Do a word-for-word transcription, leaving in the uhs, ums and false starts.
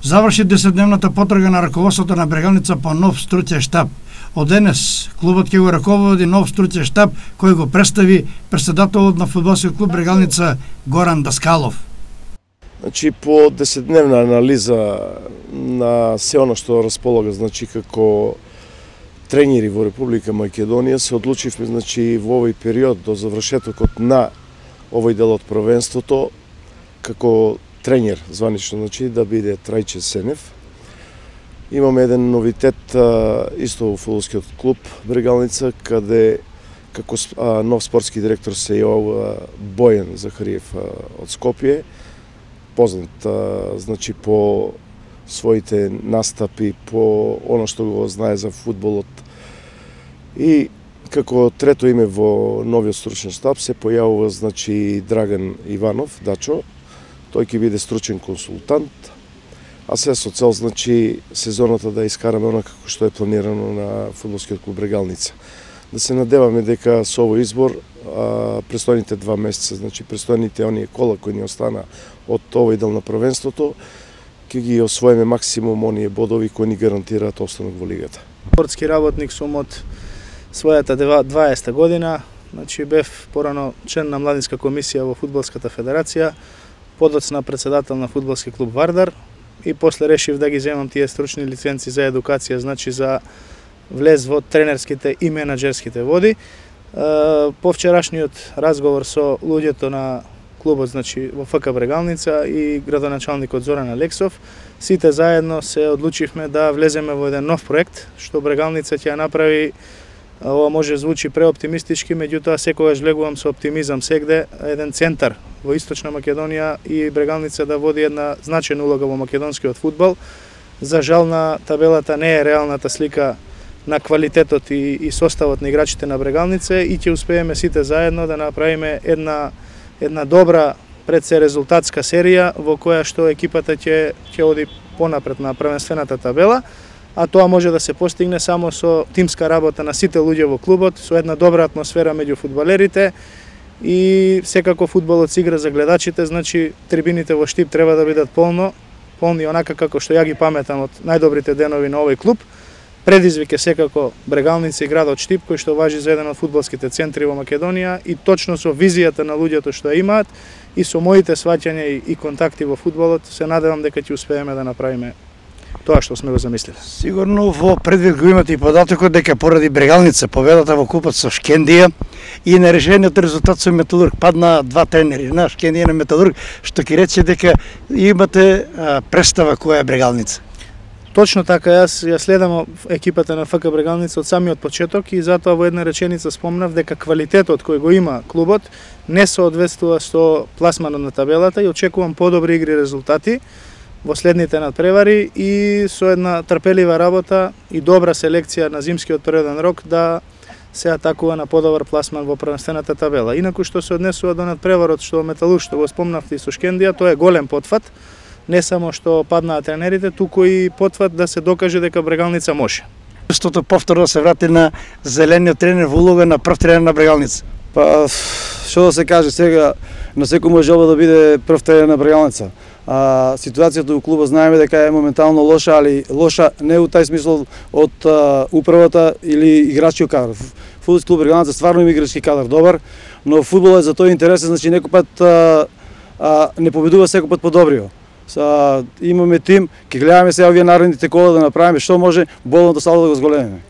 Заврши десетдневната потрага на раководството на Брегалница по нов stručен штаб. Од денес клубот ќе го раководи нов stručен штаб кој го представи претседателот на фудбалскиот клуб Брегалница Горан Даскалов. Значи по десетдневна анализа на се она што располага, значи како тренери во Република Македонија, се одлучивме, значи во овој период до завршетокот на овој дел од првенството како тренер званично, значи да биде Трајче Сенев. Имаме еден новитет исто во фудбалскиот клуб Брегалница, каде како нов спортски директор се јавува Бојан Захариев од Скопје, познат значи по своите настапи, по оно што го знае за фудбалот. И како трето име во новиот стручен штаб се појавува, значи, Драган Иванов, Дачо. Тој ќе биде стручен консултант, а се со цел, значи, сезоната да искараме оно како што е планирано на фудбалскиот клуб Брегалница. Да се надеваме дека со овој избор а, престојните два месеца, значи престојните оние кола кои ни остана од овој дел на првенството, ќе ги освоиме максимум оние бодови кои ни гарантираат останок во лигата. Спортски работник сум од својата дваесета година, значи бев порано член на младинска комисија во фудбалската федерација, подоцна председател на фудбалски клуб Вардар и после решив да ги земам тие стручни лиценци за едукација, значи за влез во тренерските и менаџерските води. По вчерашниот разговор со луѓето на клубот, значи во ФК Брегалница и градоначалникот Зоран Алексов, сите заедно се одлучивме да влеземе во еден нов проект, што Брегалница ќе направи. Ова може звучи преоптимистички, меѓутоа секогаш влегувам со оптимизам сегде еден центар во Источна Македонија и Брегалница да води една значајна улога во македонскиот фудбал. За жал на табелата не е реалната слика на квалитетот и, и составот на играчите на Брегалница и ќе успееме сите заедно да направиме една една добра пред се резултатска серија во која што екипата ќе ќе оди понапред на првенствената табела. А тоа може да се постигне само со тимска работа на сите луѓе во клубот, со една добра атмосфера меѓу фудбалерите и секако фудбалот се игра за гледачите, значи трибините во Штип треба да бидат полно, полни онака како што ја ги паметам од најдобрите денови на овој клуб. Предизвик е секако Брегалница и градот Штип, кој што важи за еден од фудбалските центри во Македонија и точно со визијата на луѓето што имаат и со моите сваќања и, и контакти во фудбалот, се надевам дека ќе успееме да направиме тоа што сме го замислили. Сигурно во предвид го имате и податокот дека поради Брегалница победата во купот со Шкендија и нерешениот резултат со Металург падна два тренери на Шкендија и на Металург, што ќе рече дека имате а, представа која е Брегалница. Точно така, јас ја следам екипата на ФК Брегалница од самиот почеток и затоа во една реченица спомнав дека квалитетот кој го има клубот не соодветствува со пласманот на табелата и очекувам подобри игри и резултати во следните надпревари и со една трпелива работа и добра селекција на зимскиот природен рок да се атакува на подобар пласман во првенствената табела. Инаку што се однесува до надпреварот што Металург што го спомнавте и со Шкендија, тоа е голем потфат. Не само што паднаа тренерите, туку и потфат да се докаже дека Брегалница може. Стото повторно се врати на зелениот тренер во улога на прв тренер на Брегалница. Па, што да се каже сега, на секој може желба да биде прв тренер на Брегалница. А, ситуацијата во клубот знаеме дека е моментално лоша, али лоша не у тај смисол од а, управата или играчкиот кадар. Фудбалски клуб Брегалница стварно има играчки кадар добар, но фудбалот за тој интересен, значи некој пат а, а, не победува секој пат подобрио. Са, имаме тим, ќе гледаме сега овие наредните кола да направиме што може болно да сало да го зголемиме.